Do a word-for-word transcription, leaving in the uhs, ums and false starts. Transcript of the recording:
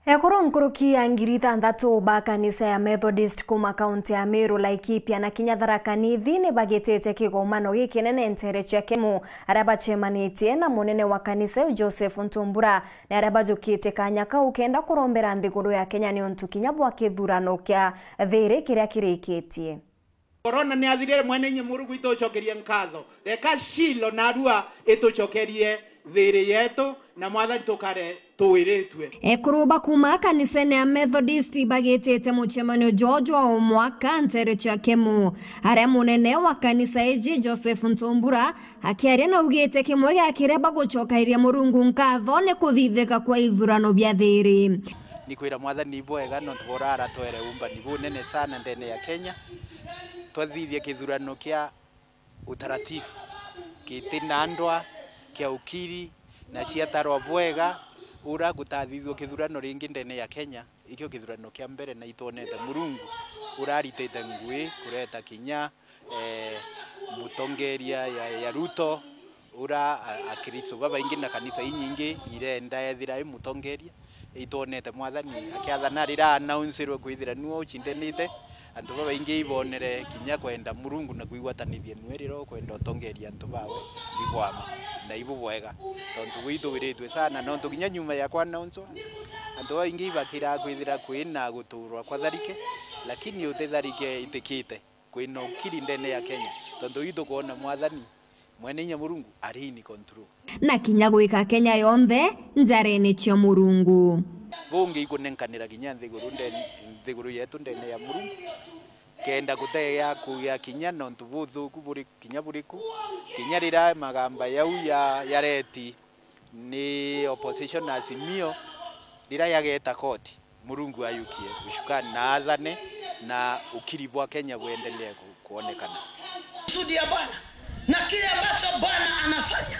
Ekuru nkuruki ya ngiri ithanthatu ba kanisa ya Methodist kuma kaunti ya Meru, Laikipia na kinya Tharaka Nithi ni bagitite kigomano gikinene nteere cia Kemu, aria bacemanitie na munene wa kanisa iu Joseph Ntumbura, ni aria bajukite kanya kau kenda kurombera nthiguru ya Kenya niuntu kinya bwa kithurano kia thiiri kiria kirikitie. Korona ni athirire, mwene inya Murungu itucokerie nkatho. Reka Shilo narua itucokerie thiiri yetu, na Mwathani tukare tuwiritue. Ekuru ba kuma kanisene ya Methodist bagitite mucemanio jwao jwa o mwaka nteere cia Kemu, aria munene wa kanisa iji Joseph Ntumbura akiaria naugite kimwe gia kiria bagucokairia Murungu nkatho ni kuthithika kwa ithurano bia thiiri. Ni kwira Mwathani ibwega nontu bwa uria aratwere umbani bunene sana ndene ya Kenya. Twathithia kithurano kia utaratibu, giti na ndwa, kia ukiri, na ciatarwa bwega, ura gutathithua kithurano ringi ndene ya Kenya. Ikio kithurano kia mbere na itwonete Murungu uraritite ngui kureta kinya, eh, mutongeria ya, ya Ruto, ura a-, Akristo babaingi na kanisa inyingi irenda ethira i mutongeria. Itwonete Mwathani akiathana riria announcerwe kwithira niwe ucindanite. Antu babaingi ibonere kinya kwenda Murungu na kwigwatanithia niwe riria ukwenda utongeria antu bawe ibwama na ibubwega. Tontu bwithuwiritwe sana, nontu kinya nyuma ya kwa announcewa, antu babaingi ibakiraa kwithira kwina guturwa kwa tharike, lakini uti tharike itikite. Kwina ukiri ndene ya Kenya, tontu itukwona Mwathani Mwene inya Murungu ari in control. Na kinya gwika Kenya yonthe njarene cia Murungu. Bungi ikunenkanira kinya nthiguru ndene, nthiguru yetu ndene ya Murungu, kenda gutegea kugia kinya nontu buthuku buri kinya buriku, kinya riria magamba yau ya, ya reti ni opposition Azimio, riria yageta koti, Murungu ayukie ushukani na athane na ukiri bwa Kenya buendelee ku-, kuonekana. Kusudi ya Bwana na kile ambacho Bwana anafanya.